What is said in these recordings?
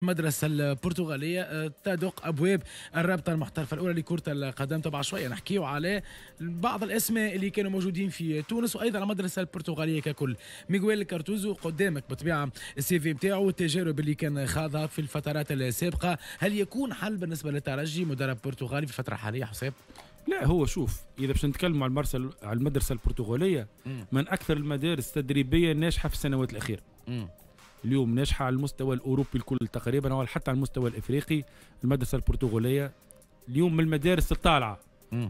المدرسة البرتغالية تدق أبواب الرابطة المحترفة الأولى لكرة القدم. طبعا شوية نحكيو على بعض الأسماء اللي كانوا موجودين في تونس وأيضا على المدرسة البرتغالية ككل. ميغويل كارتوزو قدامك بالطبيعة ال CV نتاعو والتجارب اللي كان خاضها في الفترات السابقة، هل يكون حل بالنسبة للترجي مدرب برتغالي في الفترة الحالية حسام؟ لا، هو شوف، اذا باش نتكلم على المرسل على المدرسة البرتغاليه، من اكثر المدارس التدريبية الناجحة في السنوات الاخيرة. اليوم ناجحة على المستوى الاوروبي الكل تقريبا او حتى على المستوى الافريقي. المدرسة البرتغالية اليوم من المدارس الطالعه.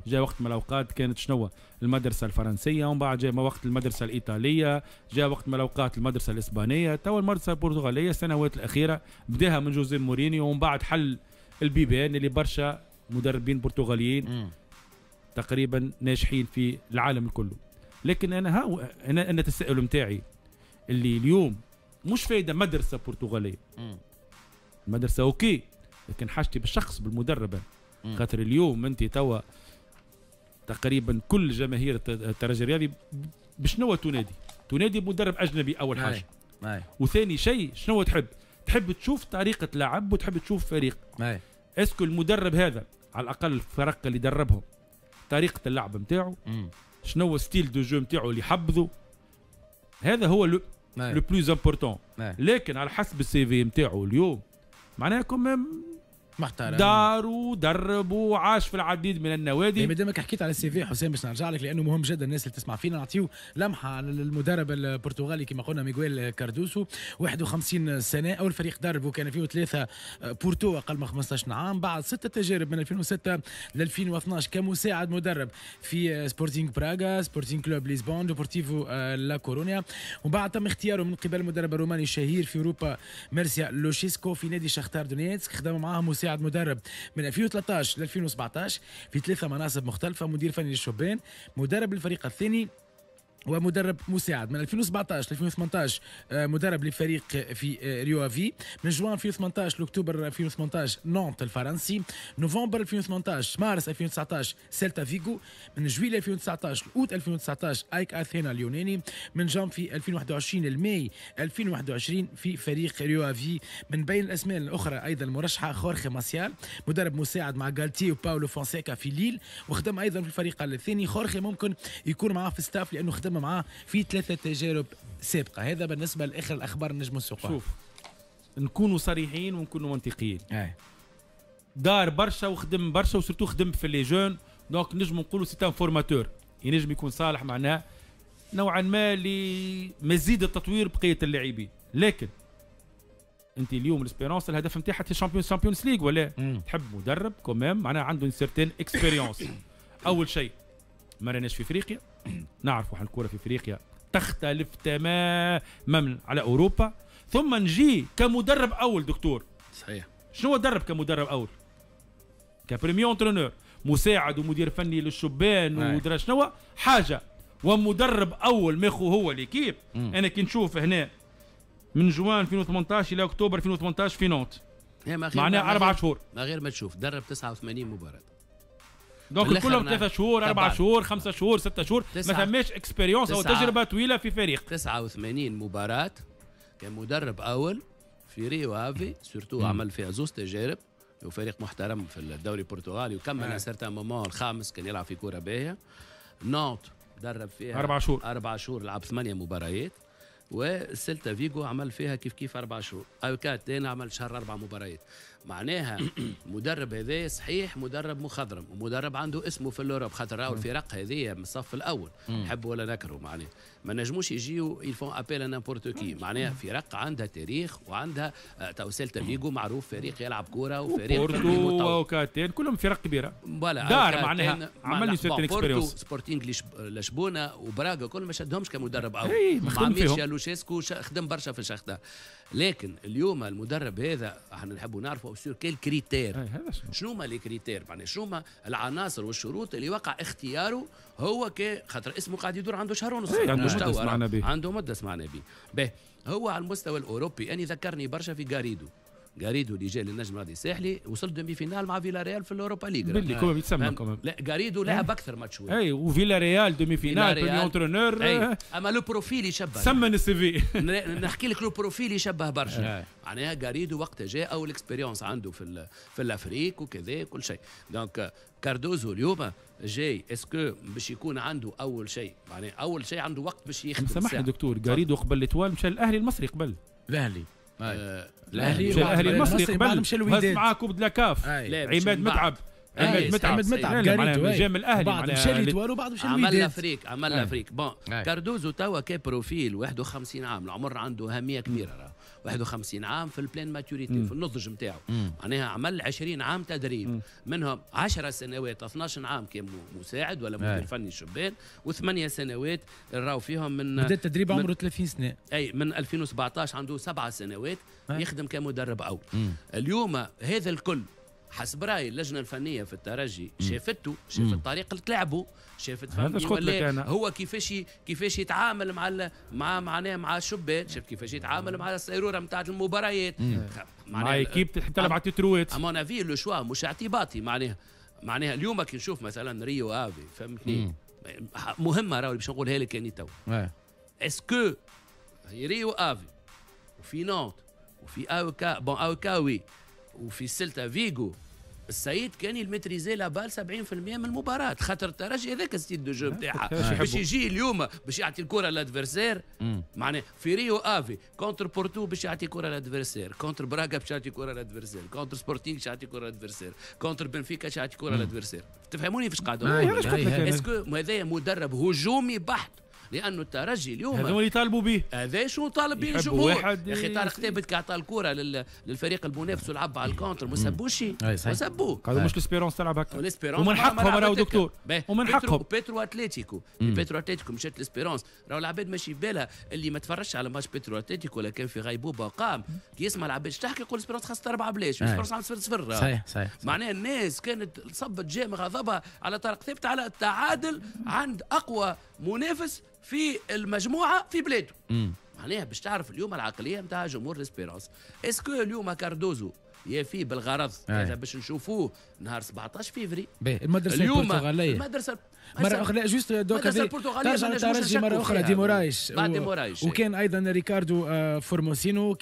جاء وقت من الاوقات كانت شنو؟ المدرسة الفرنسيه، ومن بعد جاء وقت المدرسة الايطاليه، جاء وقت من الاوقات المدرسة الاسبانيه، تو المدرسة البرتغالية السنوات الاخيرة بداها من جوزيه مورينيو، ومن بعد حل البيبان اللي برشا مدربين برتغاليين تقريبا ناجحين في العالم الكل. لكن انا ها انا التساؤل نتاعي اللي اليوم مش فايده مدرسه برتغاليه. المدرسة OK، لكن حاجتي بالشخص، بالمدرب. خاطر اليوم انت توا تقريبا كل جماهير الترجي الرياضي بشنو تنادي؟ تنادي بمدرب اجنبي اول حاجه. وثاني شيء شنو تحب؟ تحب تشوف طريقه لعب وتحب تشوف فريق. est-ce que المدرب هذا على الاقل الفرق اللي دربهم طريقه اللعب نتاعو شنو هو style de jeu نتاعو اللي حبذوا، هذا هو le plus important. لكن على حسب ال CV نتاعو اليوم معناها quand même محترم، دار ودرب وعاش في العديد من النوادي. ما دامك حكيت على ال CV حسام، باش نرجع لك لانه مهم جدا الناس اللي تسمع فينا، نعطيو لمحه على المدرب البرتغالي كما قلنا ميغويل كاردوسو، 51 سنه، اول فريق دربه كان فيه ثلاثة بورتو اقل من 15 عام، بعد ستة تجارب من 2006 ل 2012 كمساعد مدرب في سبورتينغ براغا، سبورتينغ كلوب لشبونه، ديبورتيفو لا كورونيا، وبعد تم اختياره من قبل المدرب الروماني الشهير في اوروبا ميرسيا لوشيسكو في نادي شختار دونيتسك. خدم معاه مساعد مدرب من 2013 ل 2017 في ثلاثة مناصب مختلفه: مدير فني للشبان، مدرب الفريق الثاني، ومدرب مساعد. من 2017 ل 2018 مدرب لفريق في ريو افي، من جوان 2018 لاكتوبر 2018 نانت الفرنسي، نوفمبر 2018 مارس 2019 سيلتا فيغو، من جويلية 2019 لاوت 2019 ايك اثينا اليوناني، من جانفي 2021 لماي 2021 في فريق ريو افي. من بين الاسماء الاخرى ايضا المرشحه خورخي ماسيال، مدرب مساعد مع غالتي وباولو فونسيكا في ليل، وخدم ايضا في الفريق الثاني. خورخي ممكن يكون معاه في staff لانه خدم معاه في ثلاثة تجارب سابقه. هذا بالنسبة لاخر الاخبار نجم السوق. شوف، نكونوا صريحين ونكونوا منطقيين. دار برشا وخدم برشا و surtout خدم في les jeunes، donc نجم نقولوا c'est un formateur، ينجم يكون صالح معناه نوعا ما لمزيد التطوير بقية اللاعبين. لكن انت اليوم l'Espérance الهدف نتاعها Champions League ولا؟ تحب مدرب quand même معناها عنده certaine expérience. اول شيء ما راناش في افريقيا، نعرفوا حال الكره في افريقيا تختلف تماما على اوروبا. ثم نجي كمدرب اول دكتور. شنو درب كمدرب اول؟ ك premier entraîneur، مساعد ومدير فني للشبان ودرا شنو حاجه، ومدرب اول ماخو هو l'équipe. انا كي نشوف هنا من جوان 2018 الى اكتوبر 2018 في نونت، معناها 4 شهور. ما غير ما تشوف، درب 89 مباراه. donc كلهم 3 شهور، 4 شهور، 5 شهور، 6 شهور، ما ثماش expérience او تجربه طويلة في فريق. 89 مباراة كمدرب اول في ريو افي surtout، عمل فيها زوز تجارب وفريق محترم في الدوري البرتغالي وكمل certain moment الخامس، كان يلعب في كورة باهيه. نانت درب فيها 4 شهور. 4 شهور، لعب ثمانية مباريات. وسيلتا فيغو عمل فيها كيف كيف 4 شهور. أوكا عمل شهر، اربع مباريات. معناها مدرب هذا صحيح مدرب مخضرم ومدرب عنده اسمه في l'Europe، خاطر راهو الفرق هذه من الصف الاول، نحب ولا نكره، معناها ما نجموش يجيو ils font appel à n'importe qui. معناها فرق عندها تاريخ وعندها تو سيلتا فيغو معروف فريق يلعب كورة وفريق بورتو وكاتين كلهم فرق كبيره. دار معناها عمل certaine expérience. سبورتينغ لشبونه وبراغا كل ما شدهمش كمدرب اول. مع ميرشيا لوشيسكو خدم برشا في الشختار. لكن اليوم المدرب هذا احنا نحبوا نعرفوا sur quels critères، شنو ما les critères، معناها شنو ما العناصر والشروط اللي وقع اختياره هو، كي خاطر اسمه قاعد يدور عنده شهر ونص. عنده مدة سمعنا به. عنده مده سمعنا به. به هو على المستوى الاوروبي اني ذكرني برشا في غاريدو. غاريدو اللي جاي للنجم الرياضي الساحلي وصل demi-finale مع فيلا ريال في ال Europa League. باللي كوم يتسمى كمان. لا غاريدو لعب اكثر ماتش. اي وفيلا ريال demi-finale premier entraîneur. اما le profil يشبه. سمن ال CV. نحكي لك le profil يشبه برشا. معناها غاريدو وقتها جاء اول expérience عنده في l'Afrique وكذا كل شيء. donc كاردوزو اليوم جاي est-ce que باش يكون عنده اول شيء، معناها اول شيء عنده وقت باش يخدم. سامحني دكتور، غاريدو قبل l'Étoile مشى الاهلي المصري قبل. الاهلي الاهلي الاهلي المصري قبل هز معاه coupe de la CAF. عماد متعب، عماد متعب، عماد متعب جا من الاهلي، بعد مشى l'Étoile وبعد مشى الوداد. عمل l'Afrique، عمل l'Afrique. bon كاردوزو توا ك profil 51 عام، العمر عنده اهمية كبيرة، راه 51 عام في ال pleine maturité، في النضج نتاعو. معناها عمل 20 عام تدريب، منهم 10 سنوات 12 عام كان مساعد ولا مدير فني شبان، وثمانية سنوات راهو فيهم من بدا التدريب عمره 30 سنة. اي من 2017 عنده 7 سنوات يخدم كمدرب اول. اليوم هذا الكل حسب رايي اللجنة الفنية في الترجي شافته، شافت طريقه لعبه، شافت فهمتني هو كيفاش يتعامل مع مع معناها مع الشبان، شافت كيفاش يتعامل مع السيروره نتاع المباريات، مع équipe تلعب على تروات. à mon avis le choix مش اعتباطي. معناها اليوم كي نشوف مثلا ريو افي، فهمتني، مهمة راهو باش نقولها لك اني تو. est-ce que ريو افي وفي نانت وفي اوكا، bon اوكا oui، وفي سيلتا فيغو، السيد كان ي maîtriser la balle 70% من المباراة، خاطر الترجي هذاك style de jeu نتاعها باش يجي اليوم باش يعطي الكرة لل adversaire. معناها في ريو افي contre بورتو باش يعطي كرة لل adversaire، contre براغا باش يعطي كرة لل adversaire، contre سبورتينغ باش يعطي كرة لل adversaire، contre بنفيكا باش يعطي كرة لل adversaire. تفهموني فاش قاعد؟ est-ce que هذايا مدرب هجومي بحت، لانه الترجي اليوم هذا اللي يطالبوا به، هذا شو طالب به الجمهور. يا اخي طارق ثابت كي عطى الكره للفريق المنافس ولعب على ال contre، ما سبوش، ما سبوه. قالوا مش l'Espérance تلعب هكا، ومن حقهم راهو دكتور، ومن حقهم. بيترو اتليتيكو، بيترو اتليتيكو مشات l'Espérance، راهو العباد ماشي بالها اللي ما تفرجش على ماتش بيترو اتليتيكو ولا كان في غيبوبة وقام كي يسمع العباد تحكي يقول l'Espérance خسرت 4 بلاش، l'Espérance عملت 0-0. صحيح صحيح. معناها الناس كانت صبت جام غضبها على طارق ثابت على التعادل عند اقوى منافس في المجموعة في بلاده. معناها باش تعرف اليوم العقلية نتاع جمهور l'Espérance. est-ce que اليوم كاردوزو يفي بالغرض هذا باش نشوفوه نهار 17 فيفري. المدرسة البرتغالية، المدرسة مرة اخرى juste دوكا ترجع للترجي مرة اخرى ديمورايش، بعد ديمورايش، وكان ايضا ريكاردو فورموسينو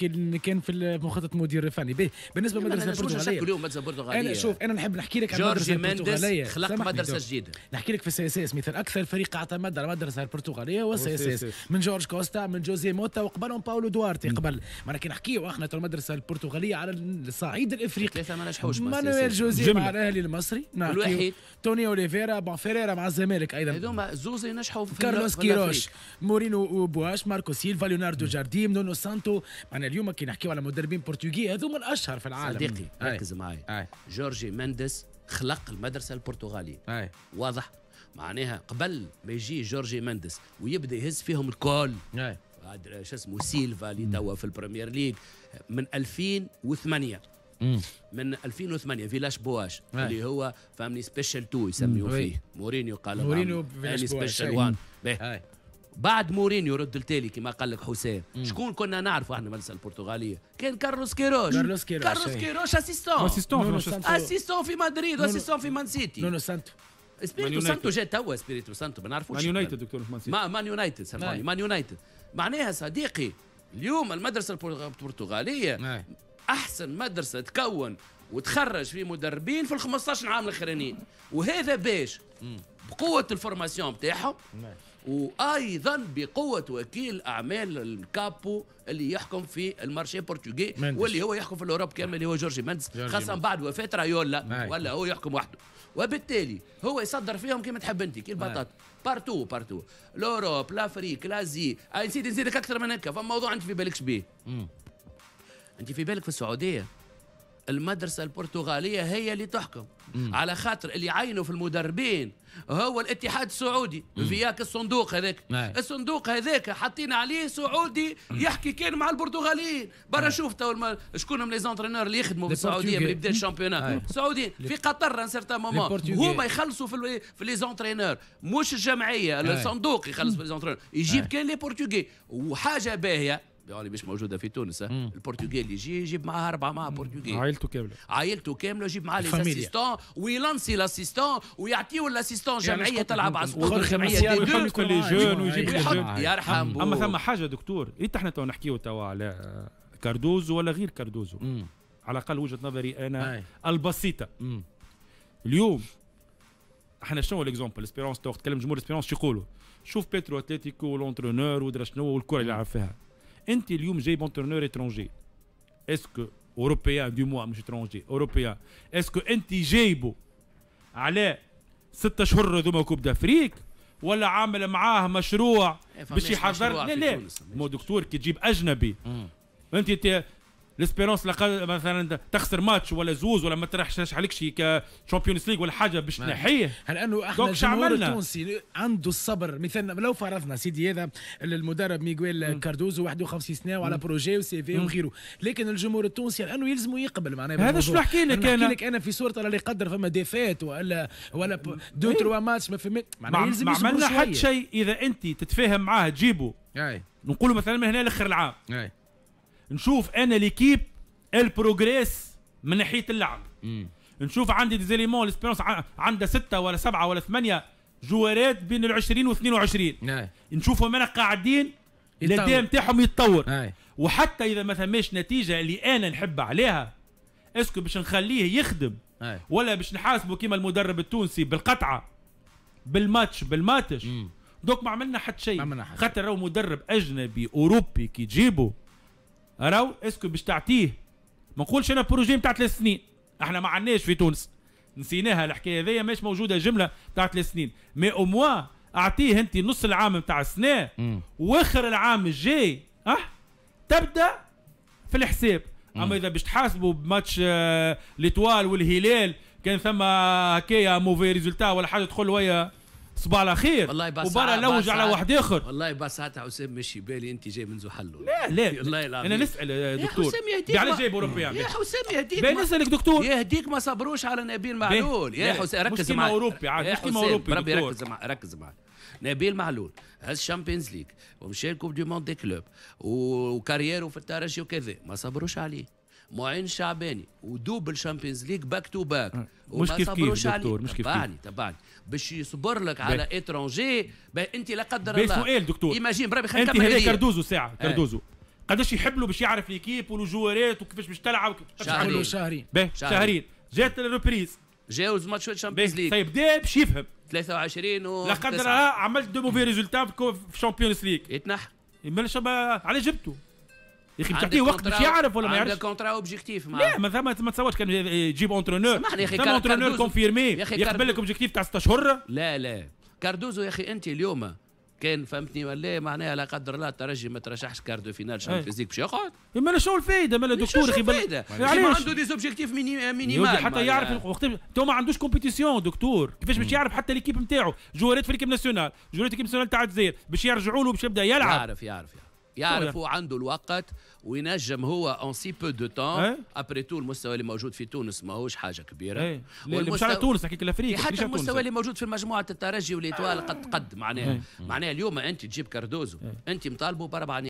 كان في مخطط مدير فني. بالنسبة للمدرسة البرتغالية اليوم المدرسة البرتغالية، انا شوف انا نحب نحكي لك على المدرسة البرتغالية. خلق مدرسه جديدة. نحكي لك في ال CSS مثل اكثر فريق اعتمد على المدرسة البرتغالية هو ال CSS، من جورج كوستا، من جوزي موتا، وقبلهم باولو دوارتي قبل. معناها كي نحكيو احنا المدرسة البرتغالية على الصعيد الافريقي، ثلاثة ما نجحوش، مانويل جوزي مع الاهلي المصري، الوحيد توني اوليفيرا، bon فيريرا مع الزمالك ايضا، هذوما زوز نجحوا في كارلوس كيروش، مورينو بواش، ماركو سيلفا، ليوناردو جارديم، نونو سانتو. معنا اليوم كي نحكيو على مدربين برتغالي هذوما الاشهر في العالم. صديقي ركز معايا، جورجي مندس خلق المدرسة البرتغالية. واضح، معناها قبل ما يجي جورجي مندس ويبدا يهز فيهم الكل، شو اسمه سيلفا اللي توا في البريمير ليج من 2008، من 2008 فيلاش بواش اللي هو فهمني special 2 يسميوه فيه مورينيو، قال مورينيو special 1. بعد مورينيو رد التالي كما قال لك حسام، شكون كنا نعرفوا احنا المدرسة البرتغالية؟ كان كارلوس كيروش. كارلوس كيروش assistant في مدريد، و assistant في مان سيتي. نونو سانتو، سبيريتو سانتو جا توا، سبيريتو سانتو ما نعرفوش. مان يونايتد دكتور، مان سيتي، مان يونايتد، سامحوني، مان يونايتد. معناها صديقي اليوم المدرسة البرتغالية احسن مدرسه تكون وتخرج في مدربين في ال 15 عام الاخرانيين، وهذا باش بقوة ال formation نتاعهم، وايضا بقوة وكيل اعمال الكابو اللي يحكم في ال marché portugais، واللي هو يحكم في ال Europe كامل، اللي هو جورجي مندس، خاصة بعد وفاه رايولا، ولا هو يحكم وحده، وبالتالي هو يصدر فيهم كيما تحب انت، كي البطاطا، partout partout، l'Europe، l'Afrique، l'Asie. نسيت نزيدك اكثر من هكا، فما موضوع انت في بالكش بيه. انت في بالك في السعودية المدرسة البرتغالية هي اللي تحكم، على خاطر اللي عينوا في المدربين هو الاتحاد السعودي، فياك الصندوق هذاك، الصندوق هذاك حاطين عليه سعودي يحكي كان مع البرتغاليين. برا شوف تو شكون هم les entraîneurs اللي يخدموا في السعودية من بداية ال championnat السعوديين، في قطر un certain moment هما يخلصوا في les entraîneurs، مش الجمعية، الصندوق يخلص في les entraîneurs، يجيب كان les Portugais. وحاجه باهيه يعني مش موجودة في تونس. البرتغالي يجي يجيب معاه اربعة مع برتغالي، عائلته كاملة، عائلته كاملة، يجيب معاه les assistants ويلانسي l'assistant ويعطيو l'assistant جمعية تلعب على سقوط جمعية D2 les jeunes ويجيب يرحم. اما ثم حاجة دكتور، إيه احنا تو نحكيو توا على كاردوزو ولا غير كاردوزو، على الاقل وجهه نظري انا البسيطة. اليوم احنا شنو l'exemple Espérance، تو تكلم جمهور Espérance شو يقولوا؟ شوف بيترو اتلتيكو l'entraîneur ودرا شنو والكره اللي يلعب فيها. انت اليوم جايب entraîneur étranger، est-ce que européen du moins مش étranger européen، est-ce que انت جايبه على 6 اشهر هذوما Coupe d'Afrique ولا عامل معاه مشروع باش يحضر؟ لا لا مو دكتور، كي تجيب اجنبي انت l'Espérance مثلا تخسر ماتش ولا زوز ولا ما ترشحش عليك شي Champions League ولا حاجة باش تنحيه. هل انه احنا الجمهور التونسي عنده الصبر؟ مثلا لو فرضنا سيدي هذا المدرب ميغويل كاردوزو 51 سنة وعلى projet و CV وغيره، لكن الجمهور التونسي لانه يلزم يقبل معناها. هذا شو نحكي لك انا، نحكي لك انا في صوره الله يقدر فما défaite ولا deux trois matchs ما فما معناها يلزم ما عملنا حتى شيء. اذا انت تتفاهم معاه تجيبه، نقولوا مثلا من هنا لاخر العام نشوف انا l'équipe elle progresse من ناحية اللعب، نشوف عندي des éléments، l'Espérance عندها ستة ولا سبعة ولا ثمانية جوارات بين ال 20 و 22، نشوفهم انا قاعدين الاداء نتاعهم يتطور، وحتى اذا ما ثماش نتيجة اللي انا نحب عليها، est-ce que باش نخليه يخدم ولا باش نحاسبه كيما المدرب التونسي بالقطعه بالماتش بالماتش؟ donc ما عملنا حتى شيء، خاطر راهو مدرب اجنبي اوروبي كي تجيبه راهو est-ce que باش تعطيه، ما نقولش انا projet نتاع 3 سنين، احنا ما عندناش في تونس، نسيناها الحكاية هذيا، مش موجودة جملة تاع 3 سنين، mais au moins اعطيه انت نص العام نتاع السنة واخر العام الجاي تبدا في الحساب. اما اذا باش تحاسبوا بماتش l'Étoile والهلال كان ثم هكايا mauvais résultat ولا حاجة تدخل ويا صباح على خير والله وبرا لوج على واحد اخر. والله بس ساعتها حسام مشي بالي انت جاي من زحلو. لا لا والله العظيم انا نسال دكتور، يا حسام يهديك، علاش جايب اوروبيان؟ يا حسام يهديك، نسالك دكتور. يهديك، ما صبروش على نبيل معلول يا حسام، ركز معي. اوروبي عاد، مش كيما اوروبي. ربي ركز معي، ركز معي. نبيل معلول هز Champions League ومشى Coupe du monde des clubs و carrière في الترجي وكذا، ما صبروش عليه. معين شعباني و double Champions League back to back. مش كيف كيف دكتور، مش كيف كيف. تبعني، باش يصبر لك على étranger انت لا قدر الله. سؤال دكتور. imagine بربي. خلينا انت هذا كاردوزو ساعة كاردوزو قداش يحب له باش يعرف l'équipe والجوارات وكيفاش باش تلعب؟ شهرين. شهرين. شهرين جات ال reprise. جاوز ماتش Champions League. طيب بدا باش يفهم. 23 و لا قدر الله عملت deux mauvais résultats في Champions League. يتنح. علاش جبته؟ يا اخي بتعطيه وقت باش يعرف ولا ما يعرفش؟ عنده contrat objectif. لا ما تصورش كان تجيب entraîneur. سامحني يا اخي، entraîneur confirmé يقبل لك objectif تاع 6 اشهر. لا لا، كاردوزو يا اخي انت اليوم كان فهمتني ولا معناها لا قدر الله الترجي ما ترشحش quart de finale Champions League باش يقعد؟ ما شنو الفايدة مالا دكتور؟ اخي الفايدة ما عنده des objectifs minimaux. حتى يعرف وقت تو ما عندوش compétition دكتور، كيفاش باش يعرف حتى l'équipe نتاعو، جوارات في l'équipe nationale، جوارات l'équipe nationale تاع الجزائر باش يرجعوا له باش يبدا يلعب؟ يعرف يعرف يعرف يعرف، هو عنده الوقت وينجم هو en si peu de temps. après tout المستوى اللي موجود في تونس ماهوش حاجة كبيره. ايه. مش على تونس، نحكيك l'Afrique. حتى المستوى اللي موجود في مجموعة الترجي و l'Étoile قد قد معناها اليوم انت تجيب كاردوزو انت مطالبه باربع